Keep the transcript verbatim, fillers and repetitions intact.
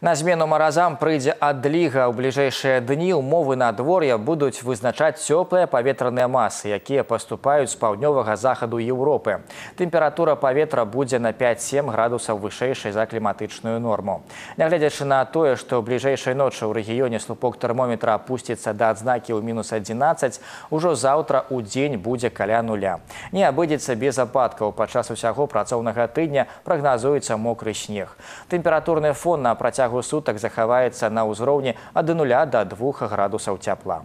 На змену маразам прыйдзе адліга. У бліжэйшыя дні ўмовы надвор'я будуць вызначаць цёплыя паветраныя масы, якія паступаюць з паўднёвага захаду Еўропы. Тэмпература паветра будзе на пяць-сем градусаў вышэйшай за кліматычную норму. Нягледзячы на тое, што ў бліжэйшай ночы ў рэгіёне слупок тэрмометра апусціцца да адзнакі ў мінус адзінаццаць, ужо заўтра ў дзень будзе каля нуля. Не абыдзецца без ападкаў. Падчас усяго працоўнага тыдня прагназуецца мокры снег. Тэмпературны фон на працягу сутак захаваецца на ўзроўні ад нуля да двух градусаў цяпла.